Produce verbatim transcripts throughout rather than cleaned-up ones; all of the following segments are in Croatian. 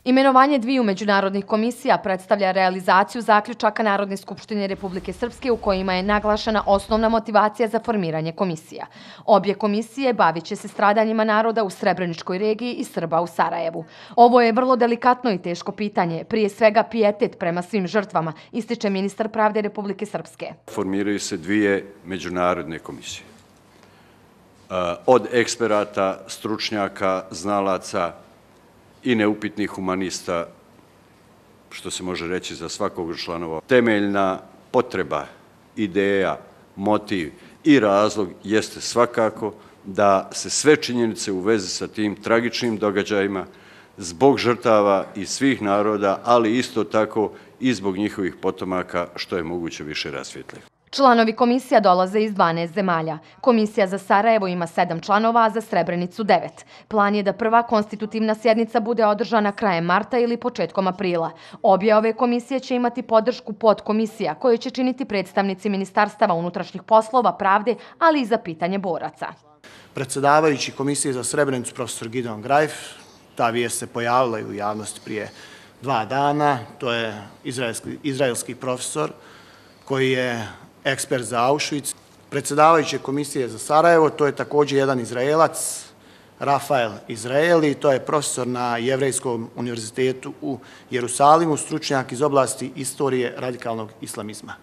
Imenovanje dviju međunarodnih komisija predstavlja realizaciju zaključaka Narodne skupštine Republike Srpske u kojima je naglašena osnovna motivacija za formiranje komisija. Obje komisije bavit će se stradanjima naroda u Srebreničkoj regiji i Srba u Sarajevu. Ovo je vrlo delikatno i teško pitanje, prije svega pijetet prema svim žrtvama, ističe ministar pravde Republike Srpske. Formiraju se dvije međunarodne komisije. Od eksperata, stručnjaka, znalaca i neupitnih humanista, što se može reći za svakog od članova. Temeljna potreba, ideja, motiv i razlog jeste svakako da se sve činjenice u vezi sa tim tragičnim događajima zbog žrtava i svih naroda, ali isto tako i zbog njihovih potomaka što je moguće više rasvijetle. Članovi komisija dolaze iz dvanaest zemalja. Komisija za Sarajevo ima sedam članova, a za Srebrenicu devet. Plan je da prva konstitutivna sjednica bude održana krajem marta ili početkom aprila. Obje ove komisije će imati podršku podkomisija koje će činiti predstavnici Ministarstava unutrašnjih poslova, pravde, ali i za pitanje boraca. Predsjedavajući komisije za Srebrenicu, profesor Gideon Grajf, ta vijest se pojavila i u javnosti prije dva dana. To je izraelski, izraelski profesor koji je ekspert za Auschwitz. Predsjedavajuće komisije za Sarajevo, to je također jedan Izraelac, Rafael Izraeli, to je profesor na Jevrejskom univerzitetu u Jerusalimu, stručnjak iz oblasti istorije radikalnog islamizma.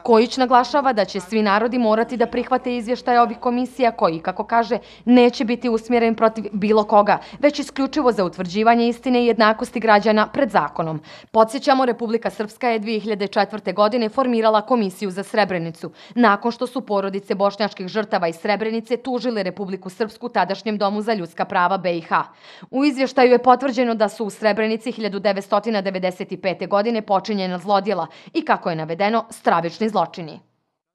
Kojić naglašava da će svi narodi morati da prihvate izvještaje ovih komisija koji, kako kaže, neće biti usmjeren protiv bilo koga, već isključivo za utvrđivanje istine i jednakosti građana pred zakonom. Podsjećamo, Republika Srpska je dvije hiljade četvrte. godine formirala komisiju za Srebrenicu, nakon što su porodice bošnjačkih žrtava iz Srebrenice tužile Republiku Srpsku tadašnjem Domu za ljudska prava B i H. U izvještaju je potvrđeno da su u Srebrenici hiljadu devetsto devedeset pete. godine počinjena zlodjela i, kako je navedeno, stravični zločini.